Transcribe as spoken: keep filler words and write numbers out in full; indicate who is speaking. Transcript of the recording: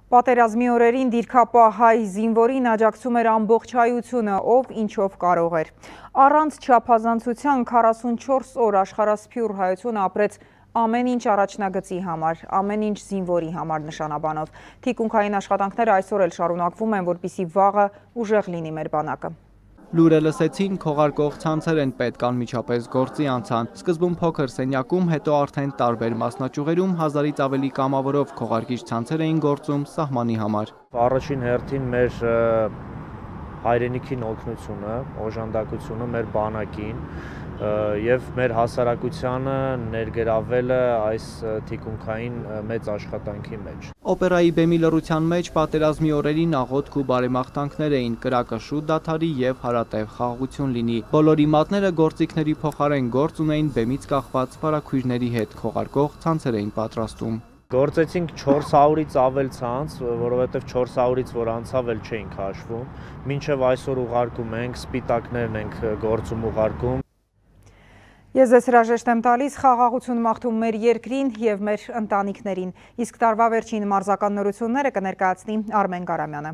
Speaker 1: Պատերազմի օրերին դիրքապահ հայ զինվորին աջակցում էր ամբողջ հայությունը, ով ինչով կարող էր։ Առանց չափազանցության քառասունչորս օր աշխարհասփյուռ հայությունը ապրեց ամեն ինչ առաջնագծի համար, ամեն ինչ զինվորի համար նշանաբանով։ Թիկունքային աշխատանքները այսօր էլ շարունակվում են, որպեսզի վաղը ուժեղ լինի մեր բանակը։
Speaker 2: Լուրը լսեցին, քողարկող ցանցեր են պետք անմիջապես գործի անցան։ Սկզբում փոքր սենյակում, հետո արդեն տարբեր մասնաճյուղերում հազարից ավելի կամավորով քողարկիչ ցանցեր էին գործում սահմանի համար։
Speaker 3: Առաջին հերթին մեր հայրենիքին օգնությունը, օժանդակությունը մեր բանակին եւ մեր հասարակությանը ներգրավելը այս թիկունքային մեծ աշխատանքի մեջ։
Speaker 2: Օպերայի բեմի լռության մեջ պատերազմի օրերին աղոթք ու բարեմաղթանքներ էին, կրակը շուտ դադարի եւ հարատև խաղաղություն լինի։ Բոլորի մատները գործիքների փոխարեն գործ ունեին բեմից կախված վարակույրների հետ, քողարկող ցանցեր էին պատրաստում։
Speaker 3: Գործեցինք չորս հարյուրից ավել ցանց, որովհետև չորս հարյուրից որ անցավ էլ չէինք հաշվում։ Մինչև այսօր ուղարկում ենք, սպիտակներն ենք գործում ուղարկում։
Speaker 1: Ես ձեզ հրաժեշտ եմ տալիս, խաղաղություն մաղթում մեր երկրին եւ մեր ընտանիքներին։ Իսկ տարվա վերջին մարզական նորությունները կներկայացնի Արմեն Կարամյանը։